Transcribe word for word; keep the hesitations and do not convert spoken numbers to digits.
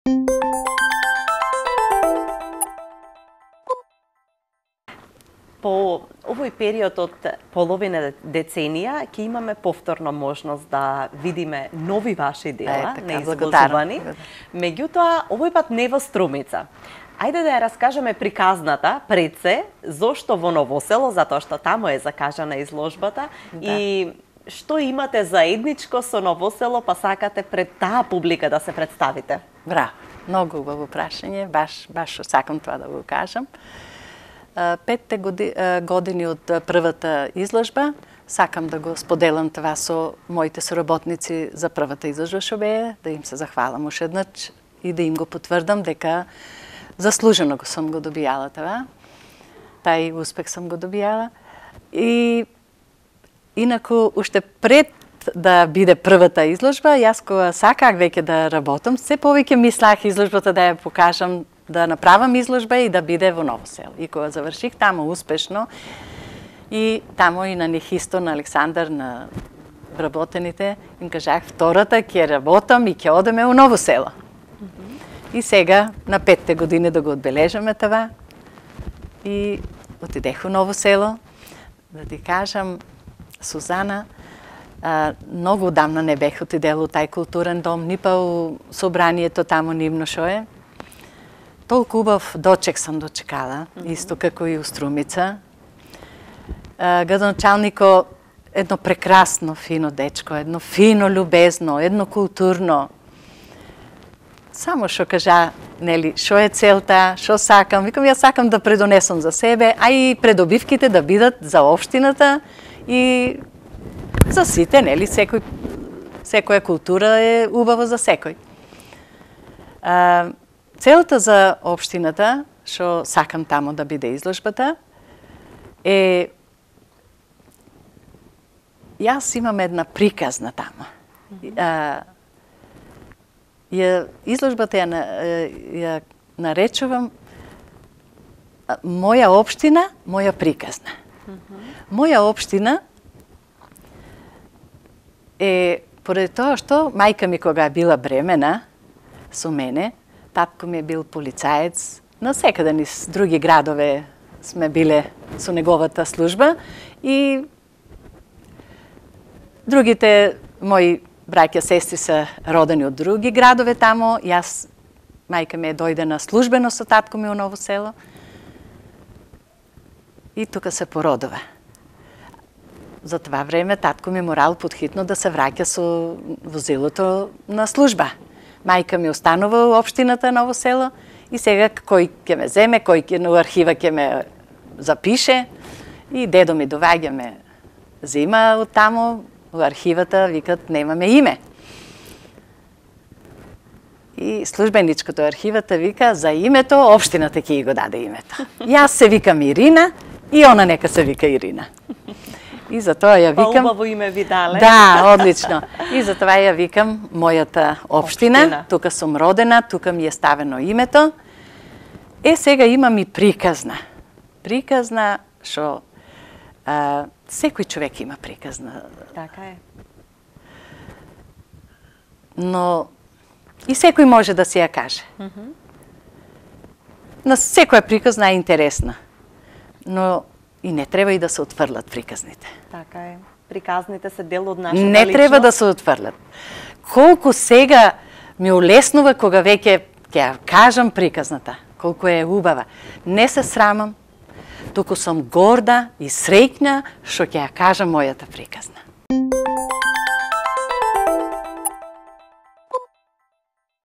По овој период од половина деценија ќе имаме повторно можност да видиме нови ваши дела, е, така, неизложувани. Меѓутоа, овој пат не во Струмица. Ајде да ја раскажеме приказната пред се, зошто во Ново село, затоа што таму е закажана изложбата, да. И што имате заедничко со Ново село, па сакате пред таа публика да се представите? Браво, многу убаво прашање, баш, баш сакам тоа да го кажам. Петте години од првата изложба, сакам да го споделам това со моите соработници за првата изложба што беа, да им се захвалам уште еднаш и да им го потврдам дека заслужено го сум го добијала това. Тај успех сум го добијала. И инаку уште пред да биде првата изложба, јас кога саках веќе да работам, се повеќе мислах изложбата да ја покажам, да направам изложба и да биде во Ново село. И кога заврших таму успешно, и таму и на Нехисто, на Александар, на вработените, им кажах, втората ќе работам и ќе одеме во Ново село. Mm -hmm. И сега, на петте години да го одбележаме това, и отидех во Ново село, да ти кажам, Сузана, а, многу одамна не бех отидела у тај културен дом, ни па у собранието таму нивно шо е. Толку убав дочек сам дочекала, mm -hmm. исто како и у Струмица. Градоначалнико едно прекрасно, фино дечко, едно фино, љубезно, едно културно. Само што кажа, нели, шо е целта, шо сакам, викам, јас сакам да предонесам за себе, а и предобивките да бидат за општината и за сите, нели, секој, секоја култура е убава за секој. А, целта за општината, што сакам таму да биде изложбата, е јас имам една приказна таму. Mm -hmm. а, ја, изложбата ја, ја наречувам моја општина, моја приказна. Mm -hmm. Моја општина е, поради тоа што мајка ми кога била бремена со мене, татко ми е бил полицаец, на секаде низ други градове сме биле со неговата служба и другите мои браќа, сестри се родени од други градове тамо. Јас, мајка ми е дојде на службено со татко ми во Ново село и тука се породува. За това време татко ми морал подхитно да се враќа со возилото на служба. Мајка ми останува во општината Ново село и сега кој ќе ме земе, кој ќе на архива ќе ме запише и дедо ми доваѓа ме зима од таму во архивата, викат немаме име. И службеничкото архивата вика за името општината ќе го даде името. Јас се викам Ирина и она нека се вика Ирина. И затоа ја викам... Па убаво име ви дале. Да, одлично. И затоа ја викам мојата општина. Општина. Тука сум родена, тука ми е ставено името. Е, сега имам и приказна. Приказна, што а, секој човек има приказна. Така е. Но и секој може да си ја каже. Mm -hmm. На секоја приказна е интересна. Но и не треба и да се отфрлат приказните. Така е. Приказните се дел од нашата Не личност. треба да се отфрлат. Колку сега ми улеснува кога веќе ќе ја кажам приказната, колку е убава. Не се срамам, туку сум горда и среќна што ќе ја кажам мојата приказна.